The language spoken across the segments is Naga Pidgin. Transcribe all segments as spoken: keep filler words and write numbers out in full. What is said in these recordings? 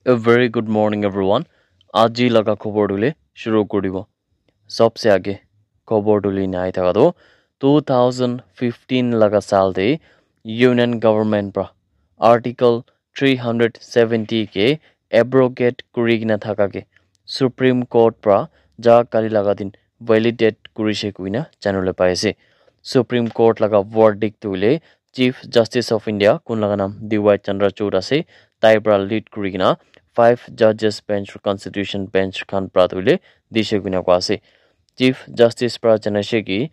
A very good morning, everyone. Aji laga khobor tu le shuru kuri dibo. Sabse aage khobor tu le nai thaka tu two thousand fifteen laga saal te Union Government pra Article three hundred seventy ke abrogate kuri kena thaka ke Supreme Court pra ja kali laga din validate kurishe kuina janole pai ase. Supreme Court laga verdict tu le Chief Justice of India, kun laga naam D Y Chandrachud ase, tai pra lead kuri kena five judges bench, Constitution Bench khan pra tu le dishe kuina koa ase. Chief Justice pra janaishe ki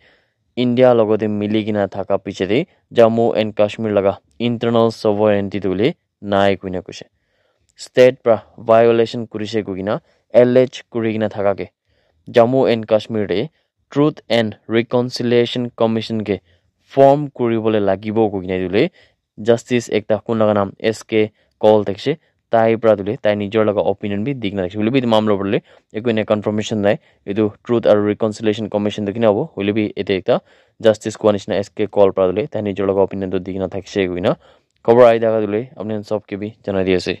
India logote mili kena thaka piche te Jammu and Kashmir laga internal sovereignty tu le nai kuina koishe. State pra violation kurishe kuina allege kuri kena thaka ke Jammu and Kashmir te Truth and Reconciliation Commission ke form kuribole lagibo koi kena etu le justice ekta kun laga naam S K Kaul thakishe, tai pra tu le tai nijor laga opinion bi di kena thakishe. Hoile bi etu mamla opor le eku ena confirmation nai. Etu Truth and Reconciliation Commission tu kina hobo? Hoile bi ete ekta justice koa nishina S K Kaul pra tu le tai nijor laga opinion tu di kena thakishe koi kena khobor ahi thaka tu le apni khan sob ke bi janai di ase.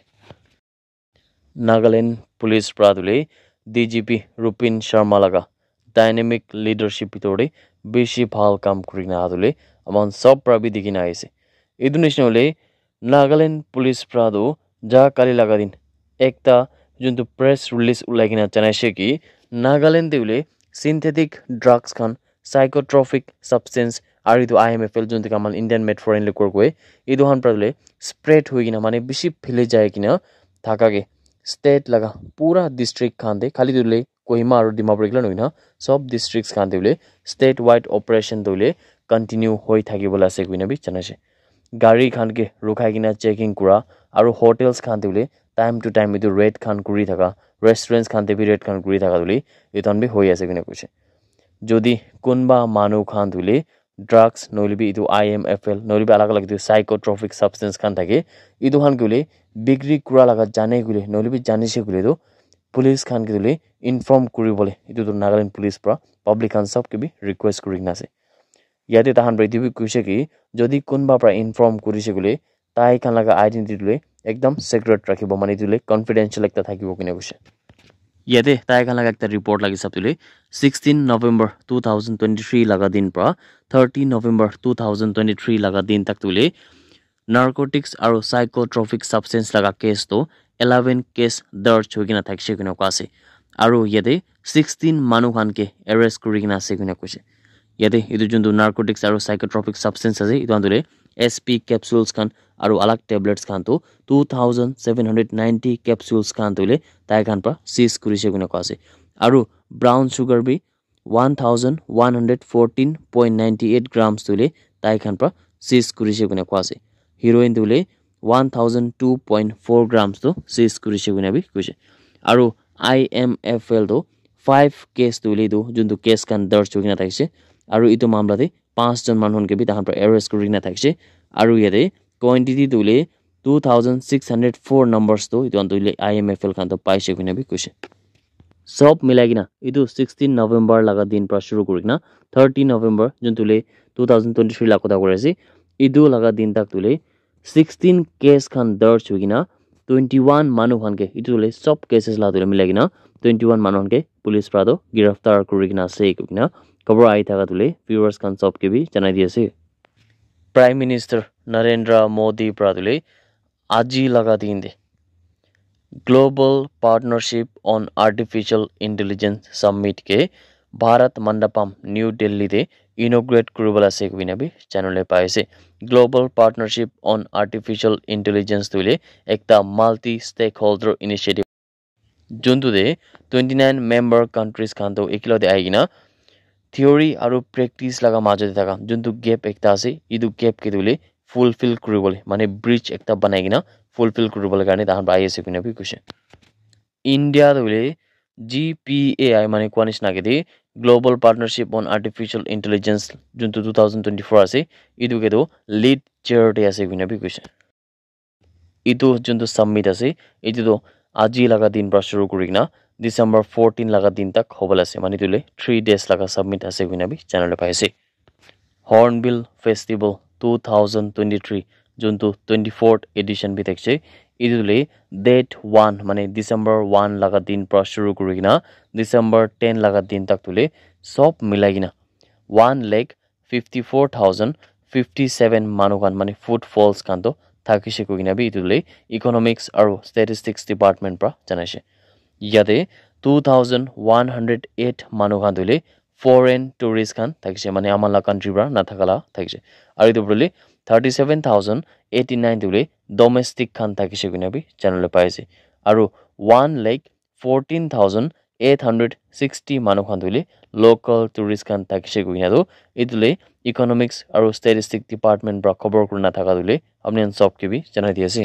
Nagaland Police pra tu le D G P Rupin Sharma laga dynamic leadership bitor te bishi bhal kam kuri kena aha tu le aman sob pra bi dikhi na ahi ase. Etu nishina hoile Nagaland Police pra tu ja kali laga din ekta juntu press release ulai kena janaishe ki Nagaland te hoile synthetic drugs khan, psychotropic substance, aru etu I M F L juntu khan Indian made foreign liquor koi, etu khan pra tu le spread hoi kena mane bishi phili jai kena thaka ke state laga pura district khan te, khali tu le Kohima aru Dimapur ekla nohoi na sob districts khan te hoile state wide operation tu le continue hoi thaki bola ase koi kena bi janaishe. Gari khan ke rukhai kena checking kura aru hotels khan te hoile time to time etu raid khan kuri thaka, restaurants khan te bi raid khan kuri thaka tu le etu khan bi hoi ase koi kena koishe. Jodi kunba manu khan tu le drugs nohole bi etu I M F L nohole bi alag alag etu psychotropic substance khan thake, etu khan ke hoile bikri kura laga jane koile nohole bi janishe koile tu police khan ke hoile inform kuri bole etu tu Nagaland Police pra public khan sob ke bi request kuri kena ase. Yate tahan pra etu bi koishe ki jodi kunba pra inform kurishe koile tai khan laga identity tu le ekdam secret rakhibo, mane etu tu le confidential ekta thakibo koi kena koishe. Yate tai khan laga ekta report laga hisab tu le sixteen November two thousand twenty-three laga din pra thirty November two thousand twenty-three laga din tak tu le narcotics aru psychotropic substance laga case tu eleven case darj hoi kena thakishe koi kena koa ase. Aru yate sixteen manu khan ke arrest kuri kena ase koi kena koishe. Yate etu juntu narcotics aru psychotropic substance ase, etu khan tu le S P capsules khan aru alag tablets khan tu two thousand seven hundred ninety capsules khan tu le tai khan pra seize kurishe koi kena koa ase. Aru brown sugar bi one thousand one hundred fourteen point ninety eight grams tu le tai khan pra seize kurishe koi kena koa ase. Heroin tu le one thousand two point four grams tu seize kurishe koi kena bi koishe. Aru I M F L tu five case tu le tu juntu case khan darj hoi kena thakishe. Aru etu mamla te panch jon manu khan ke bi tahan pra arrest kuri kena thakishe. Aru yate quantity tu le two thousand six hundred four numbers tu etu khan tu le I M F L khan tu paishe koi kena bi koishe. Sob milai kena etu sixteen November laga din pra shuru kuri kena thirty November juntu le two thousand twenty-three laga kotha kuri ase, etu laga din tak tu le sixteen case khan darj hoi kena twenty-one manu khan ke etu tu le sob cases laga tu le milai kena twenty-one manu khan ke police pra tu giraftar kuri kena ase koi kena khobor ahi thaka tu le viewers khan sob ke bi janai di ase. Prime Minister Narendra Modi pra tu le aji laga din te Global Partnership on Artificial Intelligence Summit ke Bharat Mandapam, New Delhi te inaugurate kuribole ase koi kena bi janole pai ase. Global Partnership on Artificial Intelligence tu le ekta multi stakeholder initiative juntu te twenty-nine member countries khan tu ekila te ahi kena theory aru practice laga majo te thaka juntu gap ekta ase, etu gap ke tu le fulfill kuribole mane bridge ekta banai kena fulfill kuribole karne tahan pra ahi ase koi kena bi koishe. India tu hoile G P A I mane koa nishina ke de Global Partnership on Artificial Intelligence juntu two thousand twenty-four ase, etu ke tu lead chair te ase koi kena bi koishe. Etu juntu summit ase, etu tu aji laga din pra shuru kuri kena December fourteen laga din tak hobole ase, mane etu le three days laga summit ase koi kena bi janole pai ase. Hornbill Festival two thousand twenty-three juntu twenty-fourth edition bi thakishe, Etu tu le date one mane December one laga din pra shuru kuri kena December ten laga din tak tu le sob milai kena one lakh fifty four thousand fifty seven manu khan mane food falls khan toh thakishe koi kena bi etu le Economics aru Statistics Department pra janaishe. Yate two thousand one hundred eight manu khan tu le foreign tourist khan thakishe, mane ama la country pra nathaka la thakishe. Aru etu le thirty seven thousand eighty nine tu le domestic khan thakishe koi kena bi janabole pai ase. Aru one lakh fourteen thousand eight hundred sixty manu khan tu le local tourist khan thakishe koi kena tu etu le Economics aru Statistic Department pra khobor kurina thaka tu le apni khan sob ke bi janai di ase.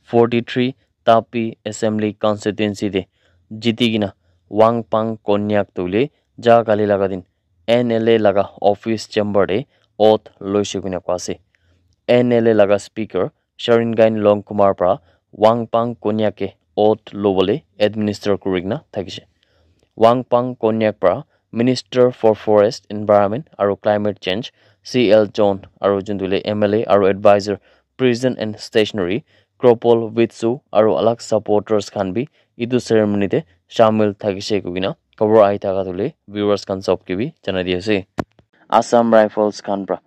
Forty three Tapi Assembly Constituency te jiti kena Wangpang Konyak tu le ja kali laga din N L A laga office chamber te oath loishe koi kena koi ase. N L A laga speaker Sharingain Longkumar pra Wangpang Konyak ke oath lobole administer kuri kena thakishe. Wangpang Konyak pra Minister for Forest, Environment aru Climate Change C L John aru juntu le M L A aru advisor Prison and Stationery Kropol Witsu aru alag supporters khan bi etu ceremony te shamil thakishe koi kena khobor ahi thaka tu le viewers khan sob ke bi janai di ase. Assam Rifles khan pra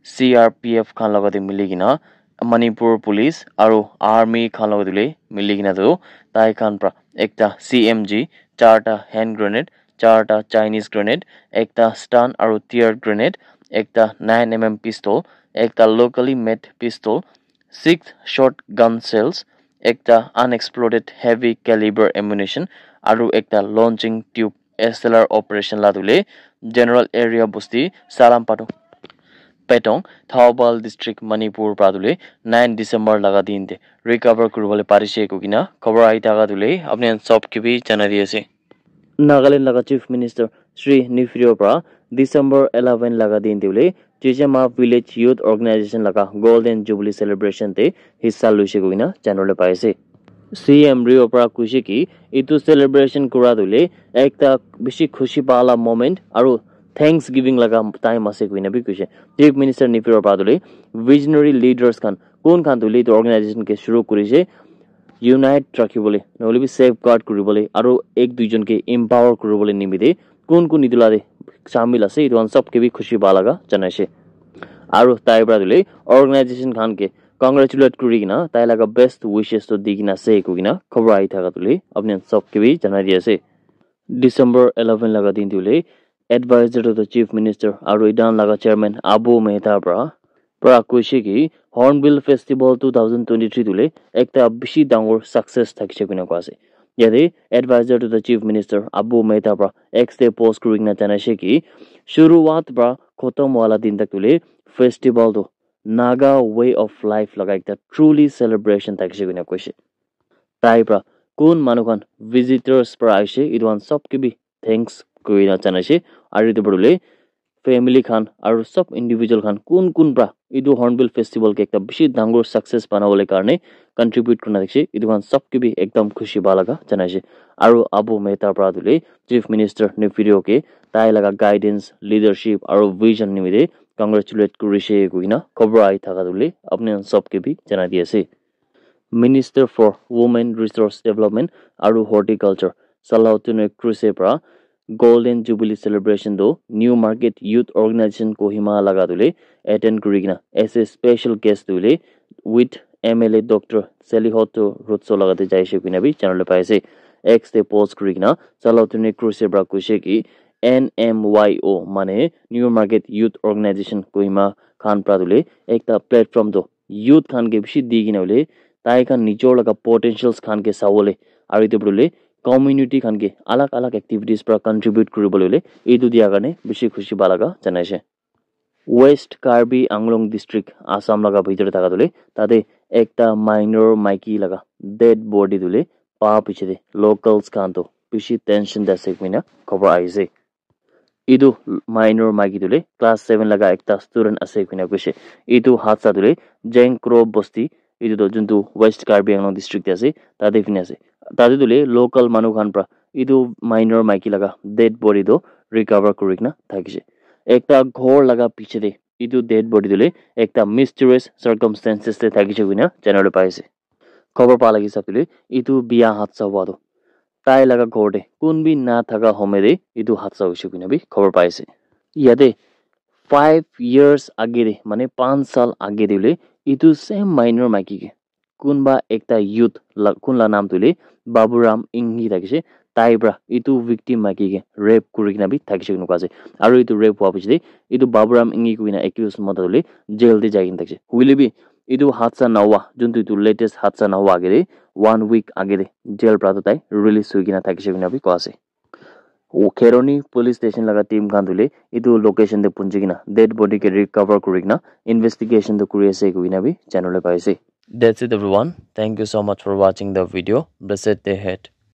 C R P F khan logote mili kena Manipur Police aru Army khan logote le mili kena tu tai khan pra ekta C M G, charta hand grenade, charta Chinese grenade, ekta stun aru tear grenade, ekta nine M M pistol, ekta locally made pistol, six shotgun shells, ekta unexploded heavy caliber ammunition, aru ekta launching tube S L R operation la tu le General Area Bosti Salam Patung Petong, Thoubal District, Manipur pra tu le nine December laga din te recover kuribole parishe koi kena khobor ahi thaka tu le apni khan sob ke bi janai di ase. Nagaland laga Chief Minister Shri Neiphiu Rio pra December eleven laga din te le Chechema Village Youth Organization laga Golden Jubilee Celebration te hissa loishe koi kena janabole pai ase. C M Rio pra koishe ki etu celebration kura tu le ekta bishi khushi pa la moment aru thanksgiving laga time ase koi kena bi koishe. Chief Minister Neiphiu Rio pra tu le visionary leaders khan kun khan tu le etu organization ke shuru kurishe unite rakhibole, nohole bi safeguard kuribole, aru ek duijon ke empower kuribole nimite kun kun etu la te shamil ase, etu khan sob ke bi khushi pa laga janaishe. Aru tai pra tu le organization khan ke congratulate kuri kena tai laga best wishes to di kena ase koi kena khobor ahi thaka tu le apni khan sob ke bi janai di ase. December eleven laga din tu le advisor to the Chief Minister aru etu khan laga chairman Abu Mehta pra pra koishe ki Hornbill Festival two thousand twenty three tu le ekta bishi dangor success thakishe koi kena koi ase. Yate advisor to the Chief Minister Abu Mehta pra X te post kuri kena janaishe ki shuruwat pra khotom wala din tak tu le festival tu Naga way of life laga ekta truly celebration thakishe koi kena koishe. Tai pra kun manu khan visitors pra aishe etu khan sob ke bi thanks koi kena janaishe. Aru etu pra tu le family khan aru sob individual khan kun kun pra etu Hornbill Festival ke ekta bishi dangor success banabole karne contribute kurina thakishe, etu khan sob ke bi ekdam khushi pa laga janaishe. Aru Abu Mehta pra tu le Chief Minister Neiphiu Rio ke tai laga guidance, leadership aru vision nimite congratulate kurishe koi kena khobor ahi thaka tu le apni khan sob ke bi janai di ase. Minister for Women Resource Development aru Horticulture Salautune Kruse pra Golden Jubilee Celebration tu New Market Youth Organization Kohima laga tu le attend kuri kena as a special guest tu le with M L A Doctor Selihoto Rutso laga te jaishe koi kena bi janabole pai ase. X te post kuri kena Salautune Kruse pra koishe ki N M Y O mane New Market Youth Organization Kohima khan pra tu le ekta platform tu youth khan ke bishi di kena hoile tai khan nijor laga potentials khan ke sabole aru etu pra tu le community khan ke alag alag activities pra contribute kuribole hoile etu dia karne bishi khushi pa laga janaishe. West Karbi Anglong District, Assam laga bhitor te thaka tu le tate ekta minor maiki laga dead body tu le pa piche te locals khan tu bishi tension te ase koi kena khobor ahi ase. Etu minor maiki tu le class seven laga ekta student ase koi kena koishe. Etu hadsa tu le Jengkro Bosti, etu tu juntu West Karbi Anglong District te ase, tate koi kena ase. Tate tu le local manu khan pra etu minor maiki laga dead body tu recover kuri kena thakishe. Ekta ghor laga piche te etu dead body tu le ekta mysterious circumstances te thakishe koi kena janabole pai ase. Khobor pa lagi hisab te etu biya hadsa hua tu tai laga ghor te kun bi na thaka homo te etu hadsa hoise koina bi khobor pai ase. Yate five years age te, mane panch saal age te hoile etu same minor maiki ke kunba ekta youth la, kun la naam tu hoile Baburam Enghi thakise, tai pra etu victim maiki ke rape kuri kena bi thakise koina koa ase. Aru etu rape hua piche te etu Baburam Enghi koina accused mota tu hoile jail te jai kena thakise. Hoile bi etu hadsa nahua, juntu etu latest hadsa nahua age te one week age te jail pra tu tai release hoi kena thakise koina bi koa ase. Kheroni police station laga team khan tu hoile etu location te punchi kena dead body ke recover kuri kena investigation tu kuri ase koina bi janibole pai ase. That's it everyone. Thank you so much for watching the video. Blessed day ahead.